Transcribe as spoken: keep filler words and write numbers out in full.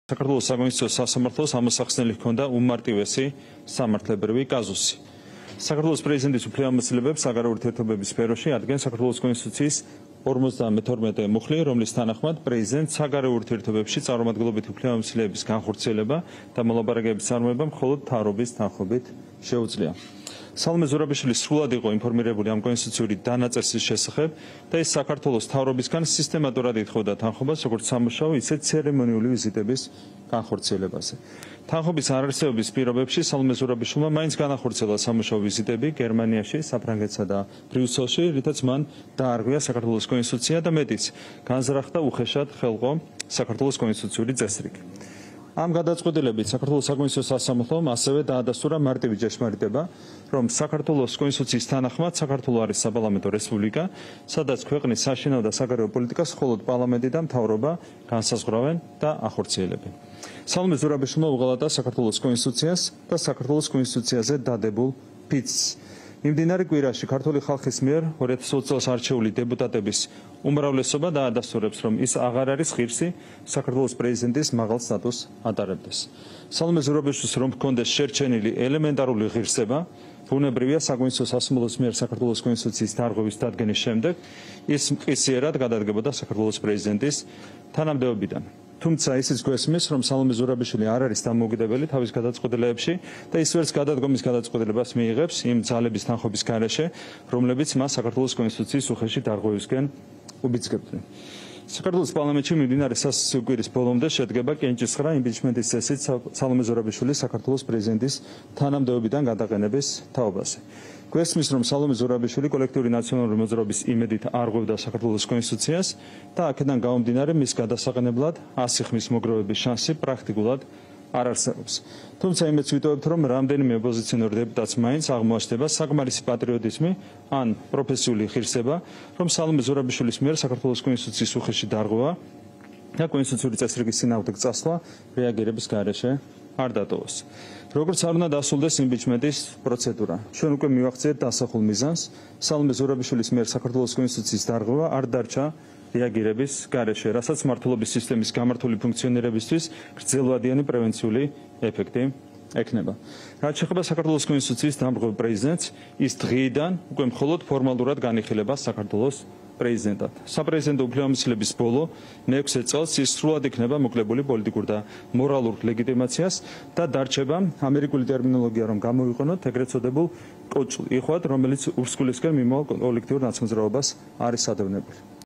საქართველოს საკონსტიტუციო სასამართლოს ამოსახსნელი ჰქონდა უმარტივესი სამართლებრივი კაზუსი. საქართველოს პრეზიდენტის უფლებამოსილებებს საგარეო ურთიერთობების სფეროში ადგენს საქართველოს კონსტიტუციის ორმოცდამეთორმეტე მუხლი, რომლის თანახმად პრეზიდენტს საგარეო ურთიერთობებში წარმომადგენლობითი უფლებამოსილების განხორციელება და მოლაპარაკებების წარმოება მხოლოდ მთავრობის თანხმობით შეუძლია. სალომე ზურაბიშვილი სრულად იყო ინფორმირებული ამ კონსტიტუციური დანაწესის შესახებ და ის საქართველოს მთავრობისგან სისტემატურად ითხოვდა თანხმობას როგორც სამუშაო, ისე ცერემონიული ვიზიტების განხორციელებაზე. თანხმობის არარსებობის პირობებში სალომე ზურაბიშვილმა მაინც განახორციელა სამუშაო ვიზიტები გერმანიაში, საფრანგეთსა და ბრიუსელში, რითაც მან დაარღვია საქართველოს კონსტიტუცია და მეტიც, განზრახდა უხეშად ხელყო საქართველოს კონსტიტუციური წესრიგი. ამ გადაწყვეტილებით საქართველოს საკონსტიტუციო სასამართლომ ასევე დაადასტურა მარტივი ჭეშმარიტება, რომ საქართველოს კონსტიტუციის თანახმად საქართველო არის საპარლამენტო რესპუბლიკა, სადაც ქვეყნის საშინაო და საგარეო პოლიტიკას მხოლოდ პარლამენტი და მთავრობა განსაზღვრავენ და ახორციელებენ. სალომე ზურაბიშვილმა უღალატა საქართველოს კონსტიტუციას და საქართველოს კონსტიტუციაზე დადებულ ფიცს. მიმდინარე კვირაში ქართული ხალხის მიერ ორი ათას ოცი წელს არჩეული დეპუტატების უმრავლესობა დაადასტურებს, რომ ის აღარ არის ღირსი საქართველოს პრეზიდენტის მაღალ სტატუსს ატარებდეს. სალომე ზურაბიშვილს რომ ჰქონდეს შერჩენილი ელემენტარული ღირსება, ბუნებრივია საკონსტიტუციო სასამართლოს მიერ საქართველოს კონსტიტუციის დარღვევის დადგენის შემდეგ ის მყისიერად გადადგებოდა საქართველოს პრეზიდენტის თანამდებობიდან. თუმცა ისიც გვესმის, რომ სალომე ზურაბიშვილი არ არის დამოუკიდებელი თავის გადაწყვეტილებებში და ის ვერც გადადგომის გადაწყვეტილებას მიიღებს იმ ძალების თანხმობის გარეშე, რომლებიც მას საქართველოს კონსტიტუციის უხეში დარღვევისკენ უბიძგებდნენ. საქართველოს პარლამენტში მიმდინარე სასაცილო კვირის ბოლომდე შედგება კენჭისყრა იმპიჩმენტის წესით სალომე ზურაბიშვილის საქართველოს პრეზიდენტის თანამდებობიდან გადაყენების თაობაზე. გვესმის, რომ სალომე ზურაბიშვილი კოლექტიური ნაციონალური მოძრაობის იმედით არღვევდა საქართველოს კონსტიტუციას და აქედან გამომდინარე მის გადასაყენებლად ასი ხმის მოგროვების შანსი პრაქტიკულად არ არსებობს. თუმცა იმედს ვიტოვებთ, რომ რამდენიმე ოპოზიციონერ დეპუტატს მაინც აღმოაჩნდება საკმარისი პატრიოტიზმი ან პროფესიული ღირსება, რომ სალომე ზურაბიშვილის მიერ საქართველოს კონსტიტუციის უხეში დარღვევა და კონსტიტუციური წესრიგის წინააღმდეგ წასვლა რეაგირების გარეშე არ დატოვოს. როგორც არ უნდა დასრულდეს იმპიჩმენტის პროცედურა. ჩვენ უკვე მივახციეთ დასახულ მიზანს, სალომე ზურაბიშვილის მიერ საქართველოს კონსტიტუციის დარღვევა არ დარჩა რეაგირების გარეშე, რასაც მმართველობის სისტემის გამართული ფუნქციონირებისთვის გრძელვადიანი პრევენციული ეფექტი ექნება. რაც შეეხება საქართველოს კონსტიტუციის დამრღვევ პრეზიდენტს, ის დღიდან უკვე მხოლოდ ფორმალურად განიხილება საქართველოს პრეზიდენტად. საპრეზიდენტო უფლებამოსილების ბოლო მეექვსე წელს ის სრულად იქნება მოკლებული პოლიტიკურ და მორალურ ლეგიტიმაციას და დარჩება ამერიკული ტერმინოლოგია რომ გამოვიყენოთ, ეგრეთ წოდებულ კოჭლ იხვად, რომელიც ურსკვლისკენ მიმავალ კოლექტიურ ნაცმოძრაობას არის ადევნებული.